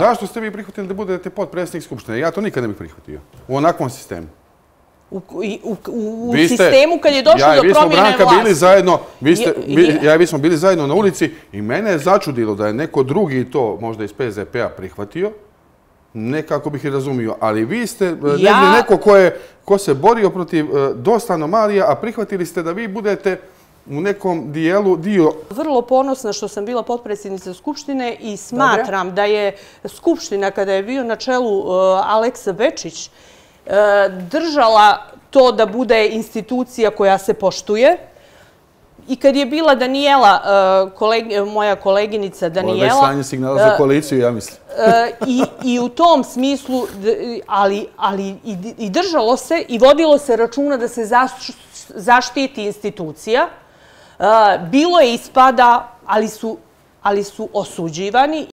Zašto ste vi prihvatili da budete potpredsjednik Skupštine? Ja to nikad ne bih prihvatio. U onakvom sistemu. U sistemu kad je došlo do promjene vlasti. Ja i vi smo bili zajedno na ulici i mene je začudilo da je neko drugi to možda iz PZP-a prihvatio. Nekako bih i razumio. Ali vi ste neko ko se borio protiv dosta anomalija, a prihvatili ste da vi budete u nekom dio... Vrlo ponosna što sam bila potpredsjednica Skupštine i smatram da je Skupština, kada je bio na čelu Aleksa Bečić, držala to da bude institucija koja se poštuje. I kad je bila Danijela, moja koleginica Danijela... Ovo je već slanje signala za koaliciju, ja mislim. I u tom smislu, ali i držalo se i vodilo se računa da se zaštiti institucija. Bilo je ispada, ali su osuđivani.